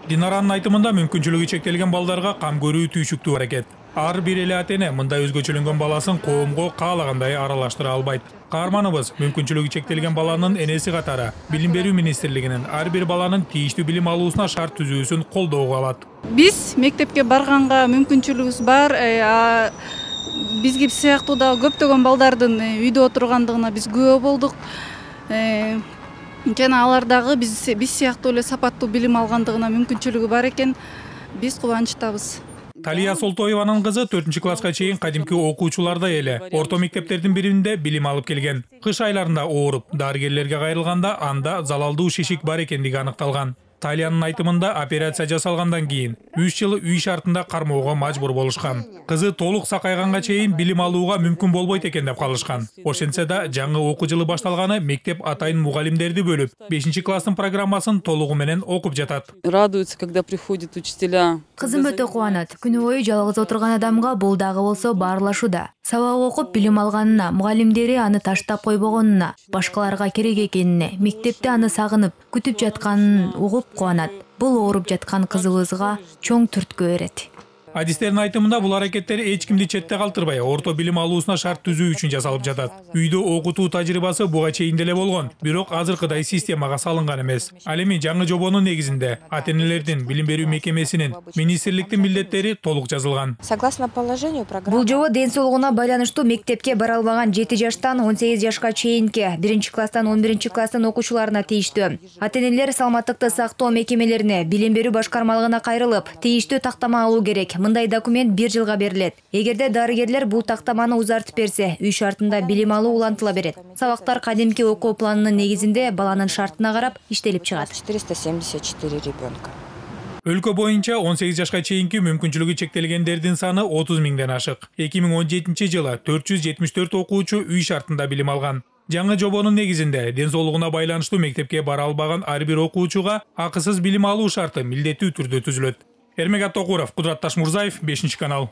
Динаранын айтымында мүмкүнчүлүгү чектелген балдарга кам көрүү түйшүктүү аракет. Ар бир эле ата-эне мындай өзгөчөлөнгөн баласын коомго каалагандай аралаштыра албайт. Каарманыбыз мүмкүнчүлүгү чектелген баланын энеси катары Билим берүү министрлигинин ар бир баланын тийиштүү билим алуусуна шарт түзүүсүн колдоого алат. Биз мектепке барганга мүмкүнчүлүгүбүз бар. Бизге сыяктуу да көптөгөн балдардын үйдө отургандыгына биз күбө болдук. Жана алар дагы биз сыяктуу эле сапаттуу билим алгандыгына мүмкүнчүлүгү бар экен. Биз кубанычтабыз. Талия Солтоеванын кызы 4-класска чейин кадимки окуучулардай эле орто мектептердин биринде билим алып келген. Кыш айларында ооруп, дарыгерлерге кайрылганда анда залалдуу шишик бар экендиги аныкталган. Талиянын айтымында операция жасалгандан кийин 3 жыл үй шартында кармоого мажбур болушкан. Кызы толук сакайганга чейин билим алууга мүмкүн болбойт экен деп калышкан. Ошентсе да жаңы окуу жылы башталганы мектеп атайын мугалимдерди бөлүп, 5-класстын программасын толугу менен окуп жатат. Радуются, когда приходят учителя. Кызым өтө кубанат. Күнү бою жалгыз отурган адамга бул дагы болсо баарлашууда. Сабак окуп билим алганына, мугалимдери аны таштап койбогонуна, башкаларга керек экенине, мектепте аны сагынып, күтүп жатканын угуп кубанат. Бул ооруп жаткан кызыбызга чоң түрткү берет. Адистердин айтымында бул аракеттер эч кимди четте калтырбай, орто билим алуусуна шарт түзүү үчүн жасалып жатат. Үйдө окутуу тажрыйбасы буга чейин деле болгон, бирок азыркыдай системага салынган эмес. Ал эми жаңы жобонун негизинде ата-энелердин, билим берүү мекемесинин, министрликтин милдеттери толук жазылган. Согласно положению программы. Бул жобо ден соолугуна байланыштуу мектепке бара албаган 7 жаштан 18 жашка чейинки 1-класстан 11-класстын окуучуларына тийиштүү. Ата-энелер саламаттыкты сактоо мекемелерине, билим берүү башкармалыгына кайрылып, тийиштүү тактама алуу керек. Мындай документ 1 жылга берилет. Эгерде дарыгерлер бул тактаманы узартып берсе, үй шартында билим алуу улантыла берет. Сабактар кадимки окуу планынын негизинде баланын шартына карап иштелип чыгат. 474 ребенка. Өлкө боюнча 18 жашка чейинки мүмкүнчүлүгү чектелгендердин саны 30 миңден ашык. 2017 жылы 474 окуучу үй шартында билим алган. Жаңы жобонун негизинде ден соолугуна байланыштуу мектепке бара албаган ар бир окуучуга акысыз билим алуу шарты милдеттүү түрдө түзүлөт. Эрмек Аттокуров, Кудрат Ташмурзаев, 5-канал.